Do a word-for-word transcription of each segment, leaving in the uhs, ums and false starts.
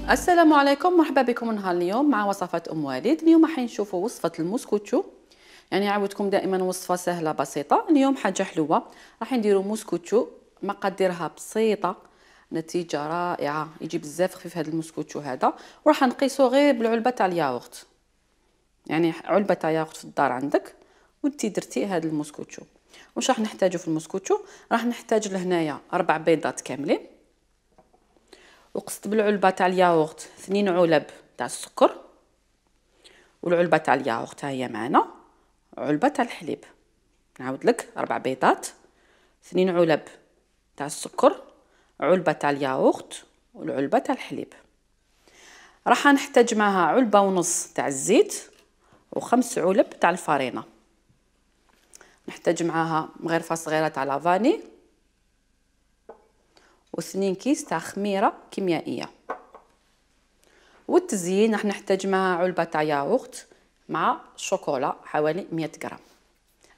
السلام عليكم، مرحبا بكم نهار اليوم مع وصفات ام وليد. اليوم راح نشوفوا وصفه الموسكوتشو، يعني عاودتكم دائما وصفه سهله بسيطه. اليوم حاجه حلوه، راح نديروا موسكوتشو مقاديرها بسيطه، نتيجه رائعه، يجي بزاف خفيف هذا الموسكوتشو هذا. وراح نقيسو غير بالعلبه تاع الياغورت، يعني علبه تاع ياغورت في الدار عندك وانتي درتي هذا الموسكوتشو. واش راح نحتاجو في الموسكوتشو؟ راح نحتاج لهنايا اربع بيضات كاملين، وقصت بالعلبه تاع الياغورت اثنين علب تاع السكر، والعلبه تاع الياغورت ها هي معنا، علبه تاع الحليب. نعاود لك اربع بيضات، اثنين علب تاع السكر، علبه تاع الياغورت، والعلبه تاع الحليب. راح نحتاج معها علبه ونص تاع الزيت، وخمس علب تاع الفارينه. نحتاج معاها مغرفه صغيره تاع لافاني، واثنين كيس تاع خميره كيميائيه. والتزيين راح نحتاج معها علبه تاع ياغورت مع شوكولا حوالي مية غرام.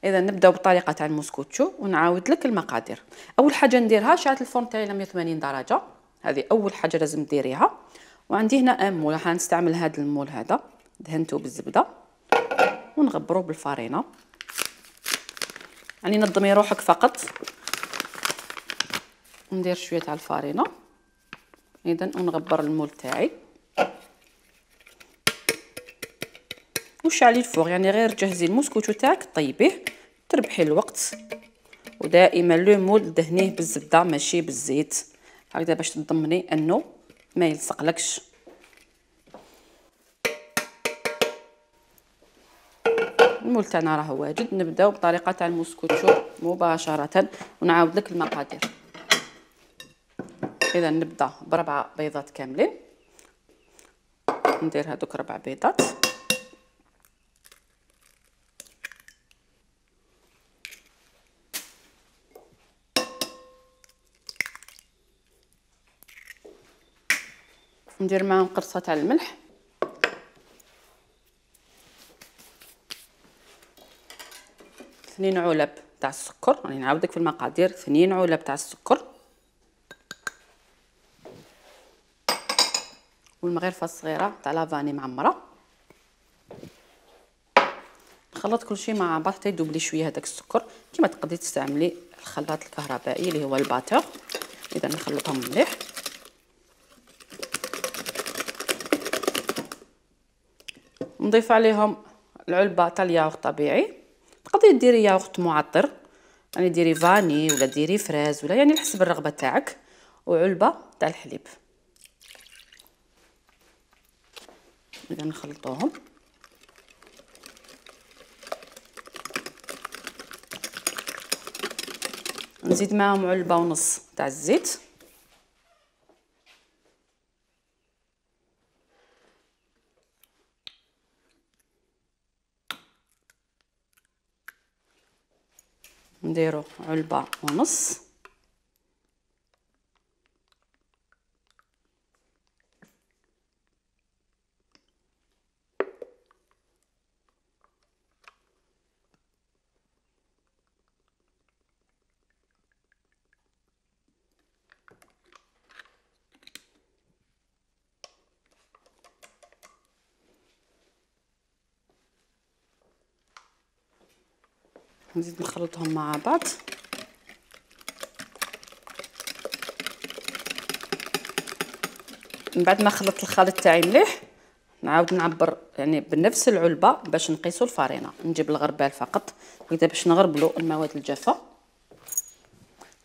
اذا نبداو بالطريقه تاع الموسكوتشو ونعاود لك المقادير. اول حاجه نديرها شعلت الفرن تاعي على مية وثمانين درجه، هذه اول حاجه لازم ديريها. وعندي هنا ان مول، راح نستعمل هذا المول هذا، دهنته بالزبده ونغبرو بالفارينه، يعني نظمي روحك فقط. ندير شويه تاع الفارينه اذا ونغبر المول تاعي. وشعلي الفوغ، يعني غير جهزي الموسكوتشو تاعك طيبيه تربحي الوقت. ودائما لو مول دهنيه بالزبده ماشي بالزيت، هكذا باش تضمني انه ما يلصقلكش. المول تاعنا راه واجد. نبداو بطريقه تاع الموسكوتشو مباشره ونعاود لك المقادير. اذا نبدا بربعه بيضات كاملين، ندير هذوك ربع بيضات، ندير معاهم قرصه تاع الملح، اثنين علب تاع السكر، راني يعني نعاودك في المقادير، اثنين علب تاع السكر، والمغرفه الصغيره تاع لافاني معمره. نخلط كل شيء مع بعض حتى يذوب لي شويه هذاك السكر. كما تقدري تستعملي الخلاط الكهربائي اللي هو الباتور. اذا نخلطهم مليح. نضيف عليهم العلبه تاع الياغورت طبيعي، تقدري ديري ياغورت معطر، يعني ديري فاني ولا ديري فريز ولا يعني حسب الرغبه تاعك، وعلبه تاع الحليب. اذا نخلطوهم. نزيد معاهم علبه ونص تاع الزيت، نديرو علبه ونص، نزيد نخلطهم مع بعض. من بعد ما خلطت الخليط تاعي مليح نعاود نعبر يعني بنفس العلبه باش نقيسوا الفارينه. نجيب الغربال فقط هكذا باش نغربلوا المواد الجافه،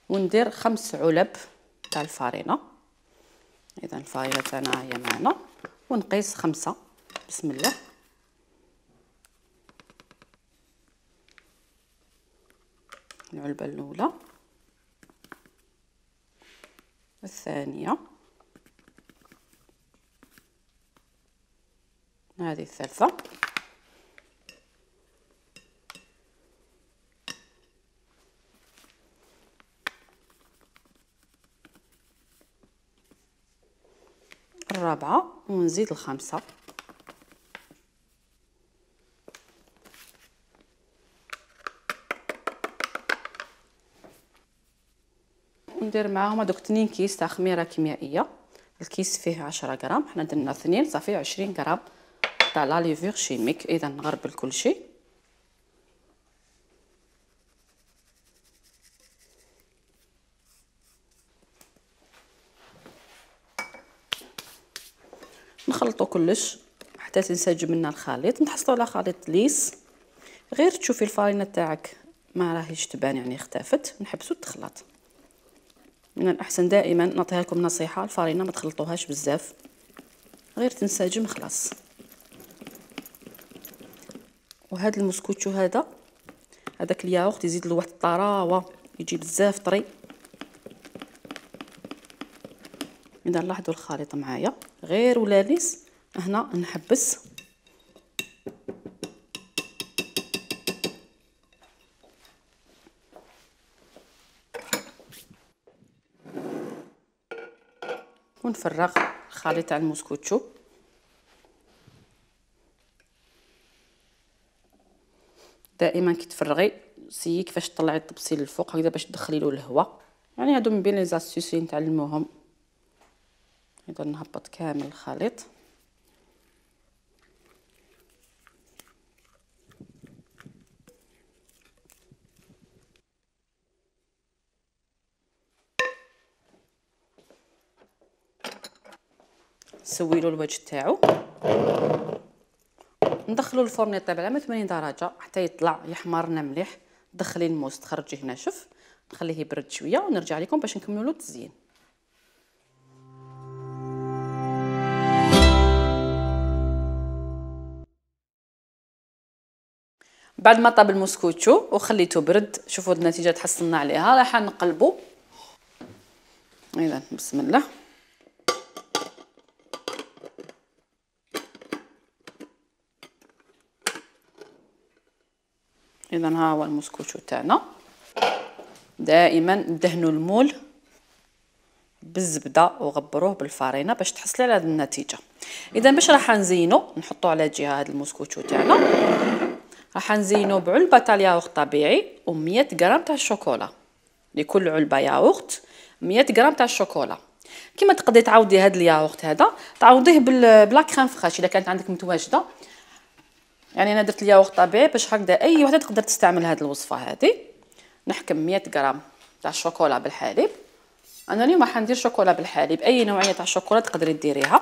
وندير خمس علب تاع الفارينه. اذا الفارينه تاعنا هي معنا، ونقيس خمسه. بسم الله. العلبه الاولى، الثانيه، هذه الثالثه، الرابعه، ونزيد الخامسه، وندير معاهم هذوك اثنين كيس تاع خميره كيميائيه الكيس فيه عشرة غرام، حنا درنا اثنين صافي عشرين غرام تاع لا ليفور شيميك. اذا نغربل كل شيء. نخلطوا كلش حتى تنسجم لنا الخليط. نحصلوا على خليط ليس، غير تشوفي الفارينه تاعك ما راهيش تبان يعني اختفت، نحبسوا تخلط. من الاحسن دائما نعطيها لكم نصيحه، الفارينه ما تخلطوهاش بزاف، غير تنسجم خلاص. وهذا المسكوتشو هذا هذاك الياغورت يزيد له واحد الطراوه، يجي بزاف طري. اذا لاحظوا الخليط معايا غير ولا ليس، هنا نحبس ونفرغ الخليط تاع المسكوتشو. دائما كي تفرغي سيي كيفاش تطلعي الطبسيل للفوق هكذا باش تدخلي له الهواء. يعني هادو من بين لي زاستيس اللي نتعلموهم. اذا نهبط كامل الخليط. نسويلو الوجه تاعو، ندخلو الفرن يطيب على ثمانين درجه حتى يطلع يحمر لنا مليح. دخلي الموس تخرجيه ناشف، نخليه يبرد شويه ونرجع لكم باش نكملوا له التزيين. بعد ما طاب المسكوتشو وخليته برد، شوفوا النتيجه تحصلنا عليها. راح نقلبوا. اذا بسم الله. اذا ها هو المسكوتشو تاعنا. دائما دهنوا المول بالزبده وغبروه بالفارينه باش تحصلي على هذه النتيجه. اذا باش راح نزينو نحطوا على جهه هذا المسكوتشو تاعنا، راح نزينو بعلبه تاع الياغورت طبيعي و100 غرام تاع الشوكولا. لكل علبه ياغورت مية غرام تاع الشوكولا. كيما تقدري تعوضي هذا الياغورت هذا تعوضيه بلا كريم فريش اذا كانت عندك متواجده. يعني انا درت الياغورت طبيعي باش هكذا اي وحده تقدر تستعمل هذه الوصفه هذه. نحكم مية غرام تاع الشوكولا بالحليب. انا اليوم راح ندير شوكولا بالحليب، اي نوعيه تاع الشوكولا تقدري ديريها.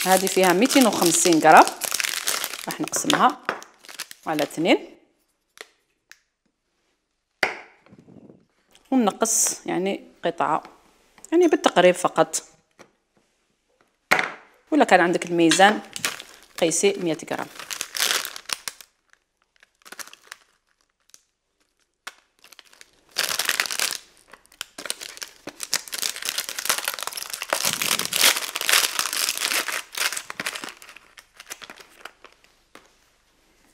هذه فيها مئتين وخمسين غرام، راح نقسمها على اثنين ونقص يعني قطعه يعني بالتقريب فقط. ولا كان عندك الميزان قيسي مئة غرام.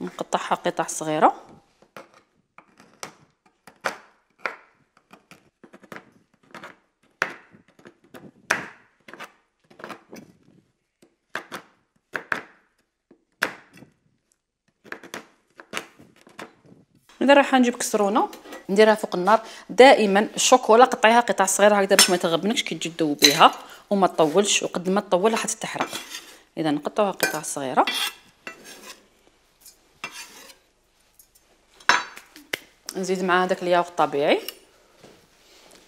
نقطعها قطع صغيره. اذا راح نجيب كسرونه نديرها فوق النار. دائما الشوكولا قطعيها قطع صغيره هكذا باش ما تغبنكش كي تجي تذوبيها وما تطولش، وقد ما تطول راح تتحرق. اذا نقطعوها قطع صغيره. نزيد معها داك الياغورت الطبيعي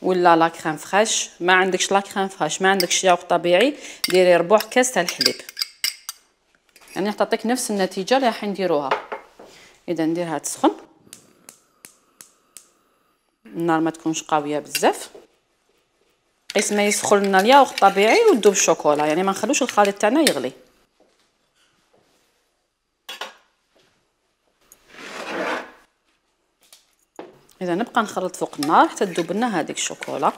ولا لا كريم فريش. ما عندكش لا كريم فريش ما عندكش ياغورت طبيعي ديري ربع كاس تاع الحليب، يعني راح تعطيك نفس النتيجه اللي راح نديروها. اذا نديرها تسخن، النار ما تكونش قويه بزاف، قيس ما يسخن لنا الياغورت الطبيعي وتذوب الشوكولا، يعني ما نخلوش الخليط تاعنا يغلي. اذا نبقى نخلط فوق النار حتى تذوب لنا هذيك الشوكولا.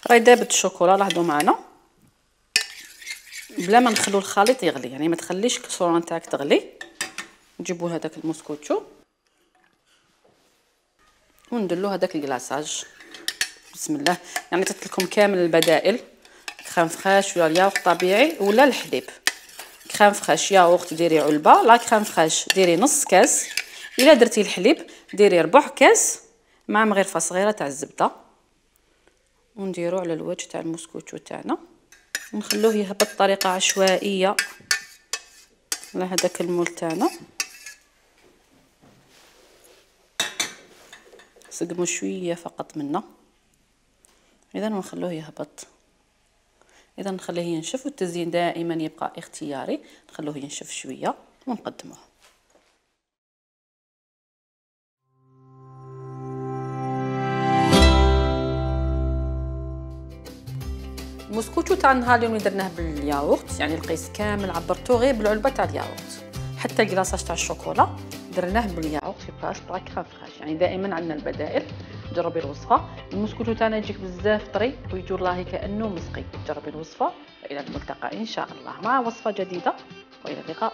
راهي دابت الشوكولا، لاحظوا معنا بلا ما نخلو الخليط يغلي، يعني ما تخليش الكسرونه تاعك تغلي. نجيبوا هذاك المسكوتشو ونديروا هذاك الكلاصاج. بسم الله. يعني عطيت لكم كامل البدائل كريم فريش ولا الياغورت طبيعي ولا الحليب. كريم فريش ياغورت ديري علبه، لا كريم فريش ديري نص كاس، الا درتي الحليب ديري ربع كاس مع مغرفه صغيره تاع الزبده، ونديرو على الوجه تاع المسكوتشو تاعنا ونخلوه يهبط بطريقه عشوائيه على هذاك المول تاعنا. سقمو شويه فقط منه، اذا نخلوه يهبط. اذا نخليه ينشف، والتزيين دائما يبقى اختياري، نخلوه ينشف شويه ونقدموه. المسكوتشو تاع النهار اليوم اللي درناه بالياغورت، يعني القيس كامل عبرتوه غير بالعلبه تاع الياغورت، حتى الكلاصاج تاع الشوكولا درناه بالياغورت في بلاصه تاع كريم فريش. يعني دائما عندنا البدائل. جربي الوصفه. المسكوتشو تاعنا يجيك بزاف طري ويجي والله كانه مسقي. جربي الوصفه، والى الملتقى ان شاء الله مع وصفه جديده، والى اللقاء.